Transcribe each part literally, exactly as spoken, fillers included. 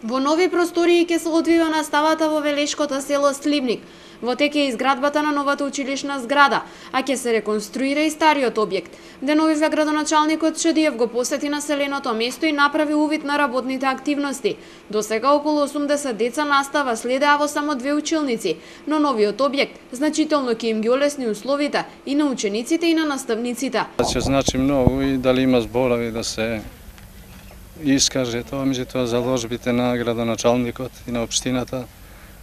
Во нови простории ќе се одвива наставата во Велешкото село Сливник. Во тек е изградбата на новата училишна зграда, а ќе се реконструира и стариот објект. Деновиве градоначалникот Шадиев го посети населеното место и направи увид на работните активности. До сега околу осумдесет деца настава следеа во само две училници, но новиот објект значително ќе им ги олесни условите и на учениците и на наставниците. Ќе значи многу и дали има зборови да се искаже тоа, меѓутоа заложбите на градоначалникот и на општината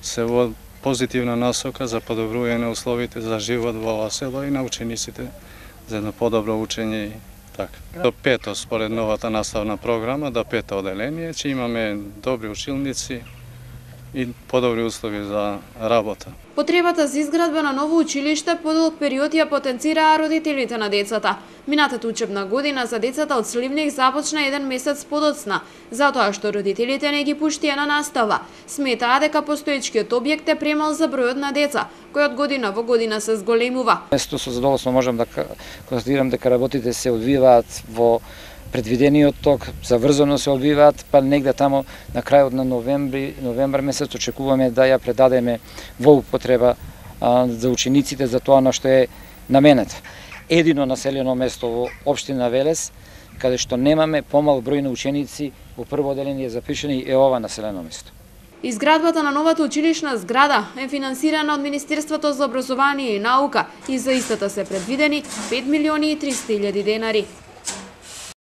се во позитивна насока за подобрување условите за живот во ова село и на учениците за едно подобро учење и така. До пето според новата наставна програма, до пето оделение, че имаме добри училници и подобри услови за работа. Потребата за изградба на ново училиште подолг период ја потенцираа родителите на децата. Минатата учебна година за децата од Сливник започна еден месец подоцна, затоа што родителите не ги пуштија на настава. Сметаа дека постоечкиот објект е премал за бројот на деца, кој од година во година се зголемува. Место со задоволство можам да констатирам дека работите се одвиваат во предвидениот ток, заврзано се одвиваат, па негде тамо на крајот на новември, новембар месец очекуваме да ја предадеме во употреба а, за учениците за тоа на што е наменет. Едино населено место во општина Велес, каде што немаме помал број на ученици во прво оделение запишени е ова населено место. Изградбата на новата училишна зграда е финансирана од Министерството за образование и наука и за истата се предвидени пет милиони и триста илјади денари.